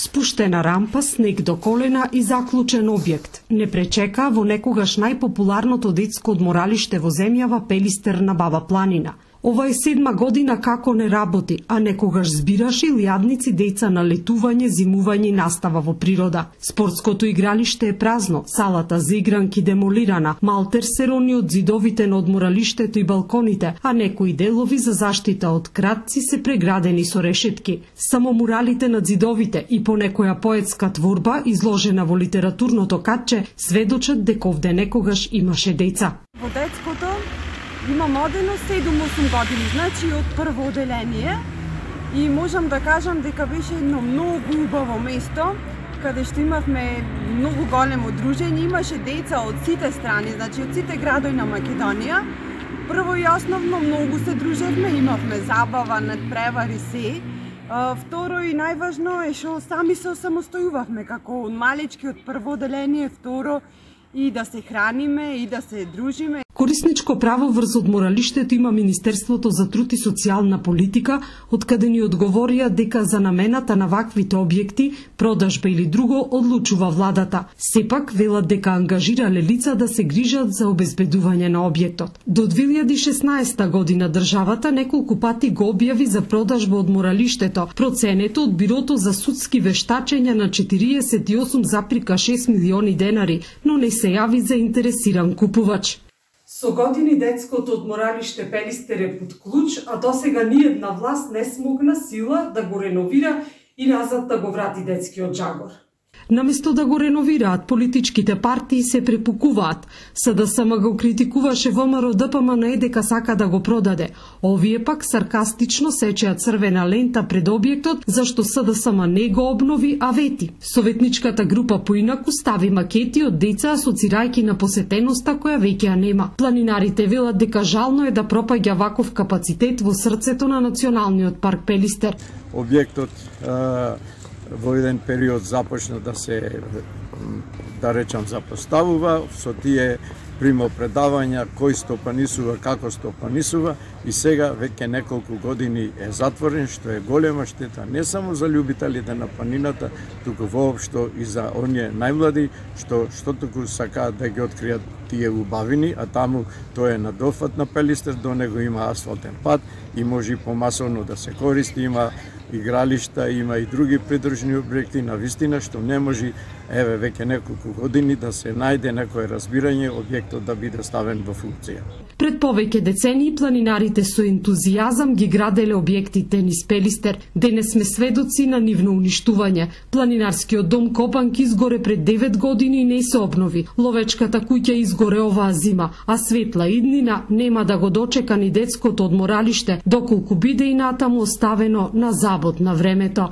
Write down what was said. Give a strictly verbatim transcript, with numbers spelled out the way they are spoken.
Спуштена рампа, снег до колена и заклучен објект не пречека во некогаш најпопуларното детско одморалиште во земјава Пелистер на Баба Планина. Ова е седма година како не работи, а некогаш збираше илјадници деца на летување, зимување и настава во природа. Спортското игралиште е празно, салата за игранки демолирана, малтер се рони од зидовите на одморалиштето и балконите, а некои делови за заштита од кратци се преградени со решетки. Само муралите над зидовите и по некоја поетска творба изложена во литературното катче сведочат дека овде некогаш имаше деца. Во детското имам одено седум-осум години, значи од прво оделение, и можам да кажам дека беше едно многу убаво место, каде што имавме многу големо дружење, имаше деца од сите страни, значи од сите градови на Македонија. Прво и основно многу се дружевме, имавме забава, надпревари се. Второ и најважно е што сами се самостојувавме, како од малечки од прво оделение, второ и да се храниме и да се дружиме. Корисничко право врз одморалиштето има Министерството за труд и социјална политика, од каде ни одговорија дека за намената на ваквите објекти, продажба или друго одлучува владата. Сепак велат дека ангажирале лица да се грижат за обезбедување на објектот. До две илјади и шеснаесета година државата неколку пати го објави за продажба одморалиштето, проценето од Бирото за судски вештачења на четириесет и осум запирка шест милиони денари, но не се јави заинтересиран купувач. Со години детското одморалиште Пелистер е под клуч, а досега ниедна власт не смогна сила да го реновира и назад да го врати детскиот жагор. Наместо да го реновираат, политичките партии се препукуваат. СДСМ го критикуваше ВМРО ДПМН дека сака да го продаде. Овие пак саркастично сечеа црвена лента пред објектот, зашто СДСМ не го обнови, а вети. Советничката група поинаку стави макети од деца асоцирајќи на посетеноста која веќе нема. Планинарите велат дека жално е да пропаѓа ваков капацитет во срцето на Националниот парк Пелистер. Објектот во еден период започна да се, да речам, запоставува, со тие примо предавања кој стопанисува, како стопанисува, и сега веќе неколку години е затворен, што е голема штета не само за љубителите на планината, туку воопшто и за оние најмлади што што туку сакаат да ги откријат тие убавини, а таму тоа е на дофат на Пелистер, до него има асфалтен пат и може помасовно да се користи, има игралишта, има и други придружни објекти, на вистина што не може, еве веќе неколку години да се најде некое разбирање објектот да биде ставен во функција. Пред повеќе децении планинарите со ентузијазам ги граделе објектите низ Пелистер. Денес сме сведоци на нивно уништување. Планинарскиот дом Копанки изгоре пред девет години и не се обнови. Ловечката куќа изгоре оваа зима, а светла иднина нема да го дочека ни детското одморалиште, доколку биде и натаму оставено на забот на времето.